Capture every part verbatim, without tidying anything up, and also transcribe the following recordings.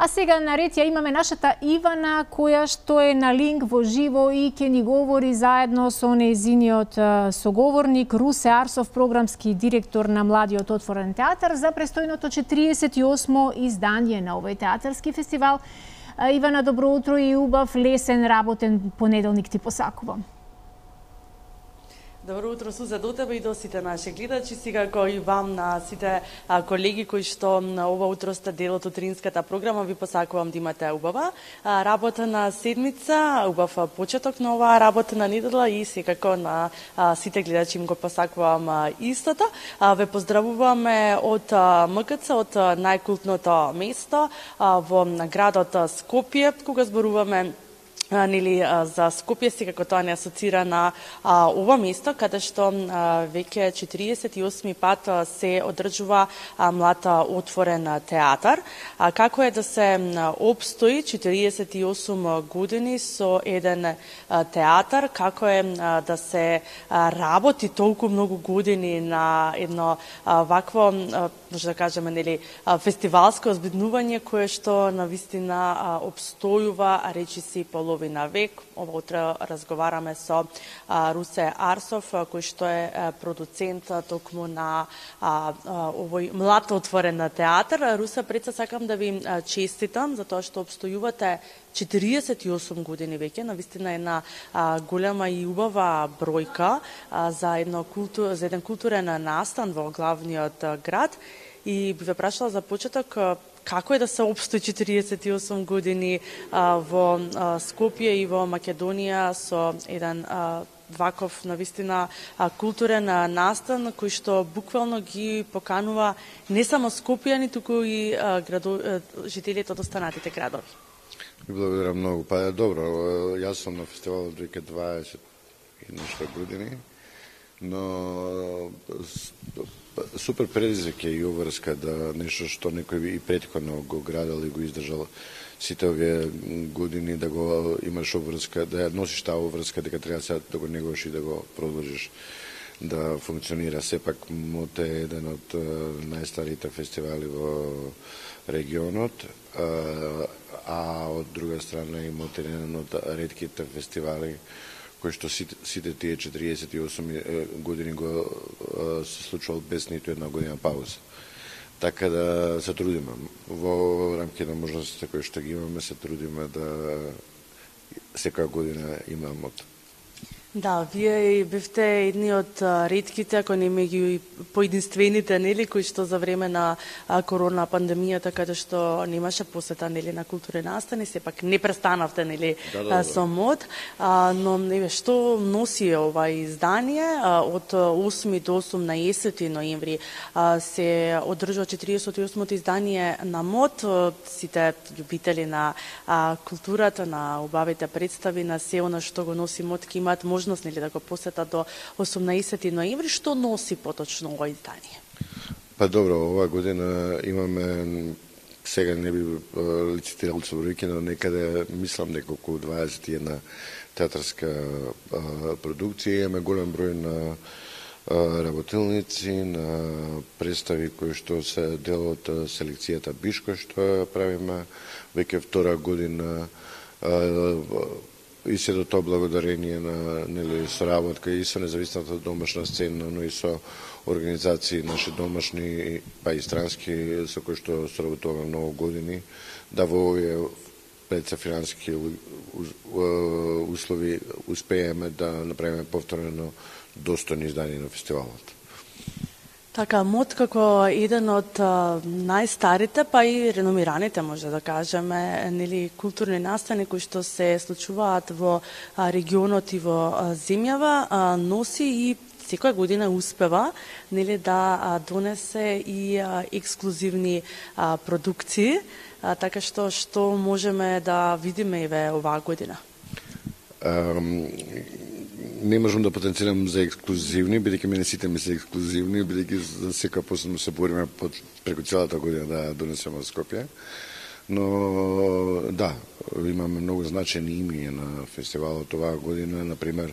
А сега наред ја имаме нашата Ивана, која што е на линк во живо и ќе ни говори заедно со нејзиниот соговорник Русе Арсов, програмски директор на Младиот отворен театар, за престојното четириесет и осмо издание на овој театарски фестивал. Ивана, добро утро и убав, лесен, работен понеделник ти посакувам. Добро утро, Суза, до тебе и до сите наши гледачи, сега како и вам на сите а, колеги кои што ова утро сте дел од утринската програма, ви посакувам да имате убава а, работена седмица, убав почеток на оваа работена недела и секако на а, сите гледачи им го посакувам а, истото. А, ве поздравуваме од а, МКЦ, од а, најкултното место а, во градот Скопје, кога зборуваме нели за Скопје, секако тоа не асоцира на а, ова место, каде што а, веќе четириесет и осми пат а, се одржува а, Млад отворен театар. А, како е да се опстои четириесет и осум години со еден а, театар, како е а, да се а, работи толку многу години на едно а, вакво, а, може да кажеме, нели, а, фестивалско озбиднување кое што навистина а, обстојува, речиси половина на век. Ова утро разговараме со а, Русе Арсов, а, кој што е а, продуцент а, токму на а, а, овој Млад отворен театар. Русе, пред се сакам да ви а, честитам за тоа што обстојувате четириесет и осум години веќе, навистина една а, голема и убава бројка а, за, едно култу, за еден културен настан во главниот а, град. И би ве прашала за почеток, како е да се опстои четириесет и осум години а, во а, Скопје и во Македонија со еден а, ваков навистина а, културен а, настан кој што буквално ги поканува не само скопјани, туку и а, градо, а, жителите од останатите градови. Благодарам многу. Па добро, јас сум на фестивалот веќе дваесет и нешто години, но супер предизвик е и обврска да нешто што некој и претходно го градел и го издржал сите овие години, да го имаш обврска, да ја носиш таа обврска, дека треба сега да го негуваш и да го продолжиш да функционира. Сепак МОТ е еден од најстарите фестивали во регионот, а од друга страна и МОТ е еден од ретките фестивали кој што сите, сите тие четириесет и осум години го се случувал без ниту една година пауза. Така да се трудиме. Во рамки на можностите кои што ги имаме, се трудиме да секоја година има МОТ. Да, вие бевте едни од ретките, ако не меѓу поединствените, нели, кои што за време на корона пандемијата, каде што немаше посета, нели, на културни настани, сепак не престанавте, нели, да, да, да. со МОТ, а, но нели што носи ова издание од осми до осумнаесети ноември а, се одржува четириесет и осмото издание на МОТ. Сите љубители на а, културата, на убавите представи, на се она што го носи МОТ, ќе имаат можност нели да го посетат до осумнаесети ноември. Што носи поточно ова издание? Па добро, оваа година имаме, сега не би лицитирал со бројки, но некаде мислам дека околу дваесет и една театарска а, продукција, имаме голем број на а, работилници, на представи кои што се дел од селекцијата Бишко, што правиме веќе втора година, а, и се до тоа благодарение на нели соработка и со независната домашна сцена, но и со организации наши домашни, па и странски, со кои што соработуваме многу години, да во овие предсафинански услови успееме да направиме повторно достојно издание на фестивалот. Така, МОТ како еден од а, најстарите, па и реномираните, може да кажеме, нели, културни настани кои што се случуваат во а, регионот и во а, земјава, а, носи и секоја година успева, нели, да а, донесе и а, ексклузивни а, продукции, а, така што што можеме да видиме еве оваа година. Um... Не можам да потенцирам за ексклузивни, бидејќи мене сите ми се ексклузивни, бидејќи за секоја посебно се бориме преку целата година да донесеме од Скопје. Но да, имаме многу значајни имиња на фестивалот оваа година, например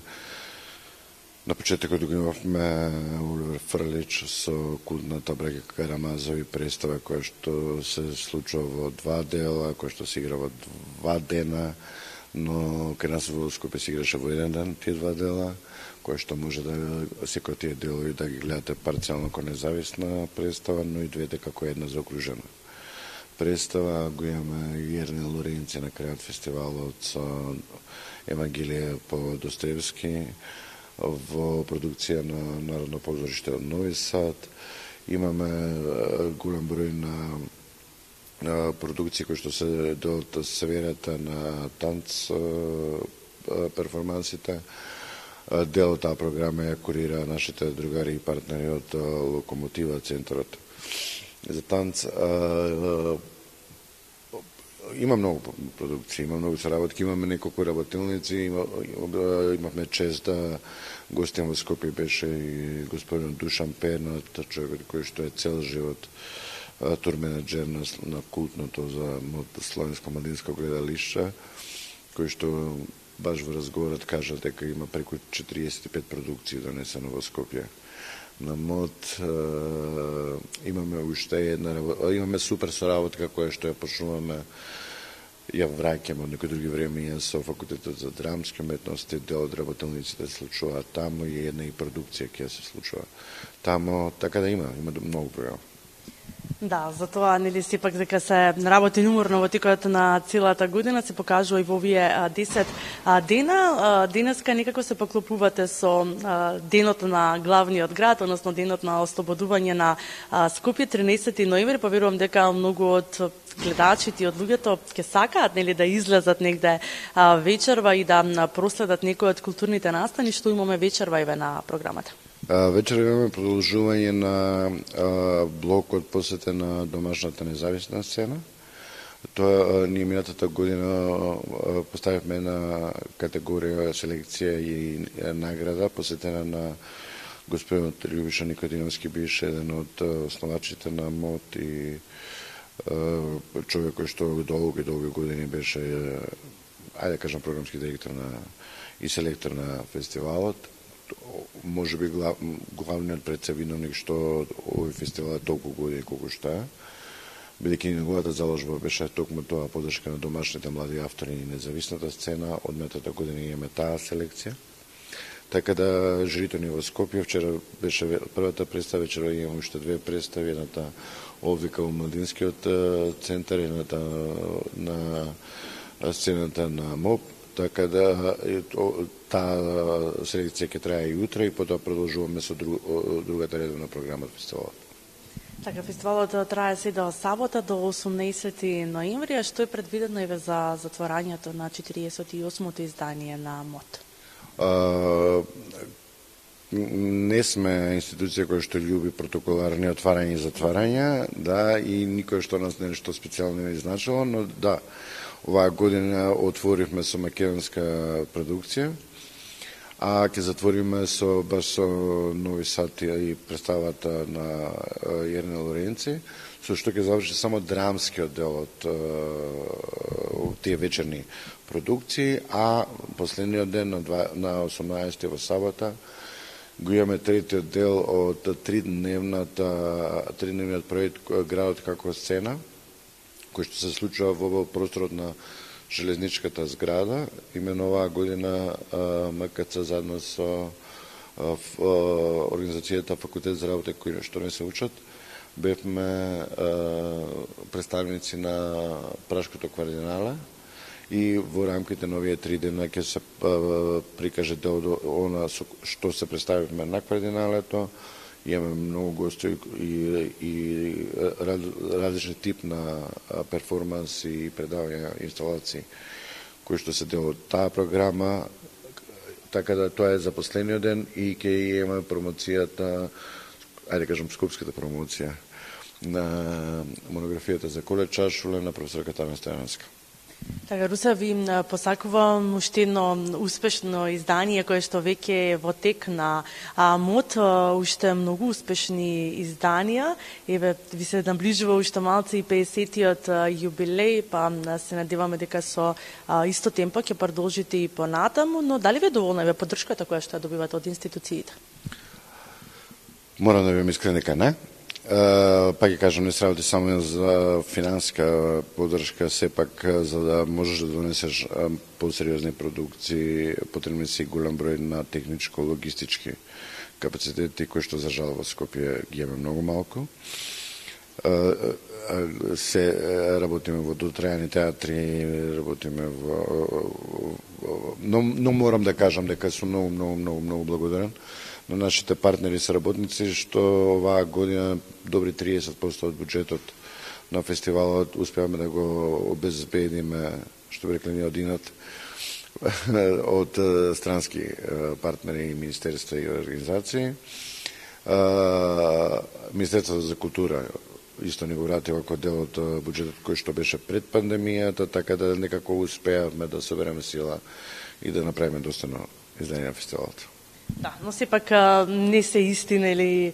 На почетокот го имавме Оливер Фрлич со култната Браќа Карамазови представа која што се случува во два дела, која што се игра во два дена, но кај нас во Скопје се играше во еден ден тие два дела, која што може да секој тие делови да ги гледате парцијално како независна представа, но и двете како една заокружена представа. Го имаме Јерне Лоренци на крајот фестивалот со Евангелие по Достоевски во продукција на Народно позориште од Нови Сад. Имаме голем број на продукции кои што се делат сферата на танц перформансите. Дел од таа програма ја курира нашите другари и партнери од Локомотива, центарот за танц. Има многу продукции, има многу соработки, имаме неколку работилници, има, имавме чест да гостин во Скопје беше и господин Душан Пернат, човекот кој што е цел живот турменеджер на, на култното за Словенско младинско гледалиште, кој што баш во разговорот кажа дека има преку четириесет и пет продукции донесено во Скопје на МОД. Имаме уште една, имаме супер соработка која што ја почнуваме, ја враќаме од некои други времења со факултетот за драмски уметности. Дел од работилниците се случува таму и една и продукција ќе се случува таму, така да има, има многу програми. Да, затоа нели сепак дека се работи уморно во текот на целата година, се покажува и во овие десет дена. Денеска некако се поклопувате со денот на главниот град, односно денот на ослободување на Скопје, тринесети ноември. Поверувам дека многу од гледачите и од луѓето ќе сакаат нели да излезат негде вечерва и да проследат некои од културните настани. Што имаме вечерва еве на програмата? Вечер имаме продолжување на а, блокот посветен на домашната независна сцена. Тоа ние минатата година а, поставивме една категорија селекција и награда посветена на господинот Љубиша Никодиновски, беше еден од основачите на МОД и а, човек кој што долги долги години беше, ајде да кажам, програмски директор на и селектор на фестивалот. Може би глав, главниот предсевиновник што овој фестивал е толку години колку што е, бидејќи неговата заложба беше токму тоа, поддршка на домашните млади автори и независната сцена. Од метата година имаме таа селекција. Така да жирито ни во Скопје, вчера беше првата представа, вечера имаме уште две представи, едната овдека во Младинскиот центар, едната на сцената на МОП. Така да таа селекција ќе трае и утре и потоа продолжуваме со друг, другата редовна програма од фестивалот. Така, фестивалот трае се до сабота до осумнаесети ноември, а што е предвидено еве за затворањето на четириесет и осмото издание на МОД? А, не сме институција која што љуби протоколарни отварања и затварања, да, и никој што нас нешто специјално не изначало, но да, оваа година отворивме со македонска продукција, а ќе затвориме со баш со Нови Сад и представата на Јерне Лоренци, со што ќе заврши само драмскиот дел од тие вечерни продукции, а последниот ден на, на осумнаесети во сабота го имаме третиот дел од тридневната тридневниот проект Градот како сцена, кој што се случува во просторот на железничката зграда. Имено оваа година МКЦ заедно со организацијата Факултет за работа кои што не се учат, бевме представници на Пражското квардинале и во рамките на овие три дена ќе се прикаже дел од она што се представивме на квардиналето. Имаме многу гости и, и различни тип на перформанс и предавања, инсталации кои што се дел од таа програма. Така да тоа е за последниот ден и ќе имаме промоцијата, ајде кажам скопската промоција на монографијата за Коле Чашуле на професор Катана Стојановска. Така, Русе, ви посакувам уште едно успешно издание кое што веќе е во тек на а, МОТ, уште многу успешни изданија. Еве, ви се наближува уште малце и педесетиот јубилеј, па се надеваме дека со а, исто темпо ќе продолжите и понатаму, но дали ви е доволна еве поддршката која што ја добивате од институциите? Морам да ви искрен дека не. Uh, па ќе кажам, не се работи само за финансиска поддршка, сепак за да можеш да донесеш uh, посериозни продукции, потребни си голем број на техничко-логистички капацитети, кои што за жал во Скопје ги имаме многу малку. Uh, uh, се работиме во дотрајани театри, работиме во... Но, но морам да кажам дека сум многу, многу, многу, многу благодарен на нашите партнери и соработници, што оваа година добри триесет проценти од буџетот на фестивалот успеавме да го обезбедиме, што би рекли ние од инат, од странски партнери и министерства и организации. Министерството за култура исто ни го вратила како дел од буџетот кој што беше пред пандемијата, така да некако успеавме да собереме сила и да направиме достойно издание на фестивалот. Да, но сепак не се истина или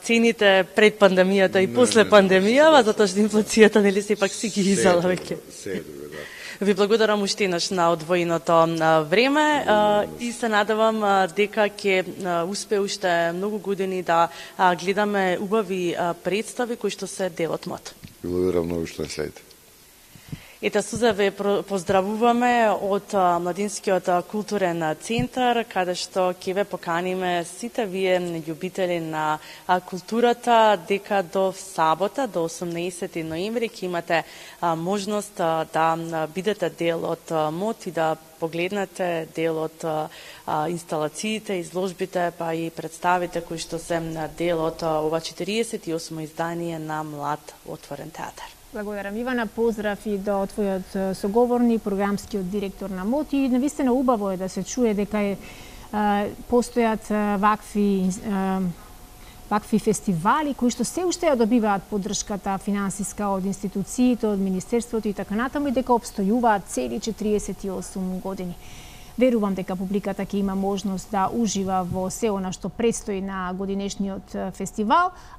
цените пред пандемијата и после пандемијава, затоа што инфлацијата нели сепак си ги изала веќе. Се е друго, да. Ви благодарам уште еднаш на одвоеното време и се надевам дека ќе успее уште многу години да гледаме убави представи кои што се дел од МОТ. Благодарам многу што не следите. Ете, Суза, ве поздравуваме од Младинскиот културен центар, каде што ќе ве поканиме сите вие љубители на културата, дека до сабота, до осумнаесети ноември, ќе имате можност да бидете дел од МОТ и да погледнете дел од инсталациите, изложбите, па и представите кои што се дел од ова четириесет и осмо издание на Млад отворен театар. Благодарам, Ивана. Поздрав и до твојот соговорник, програмскиот директор на МОТ. И навистина убаво е да се чуе дека е, а, постојат а, вакви, а, вакви фестивали кои што се уште ја добиваат поддршката финансиска од институциите, од Министерството и така натаму, и дека обстојуваат цели четириесет и осум години. Верувам дека публиката ќе има можност да ужива во се она што предстои на годинешниот фестивал,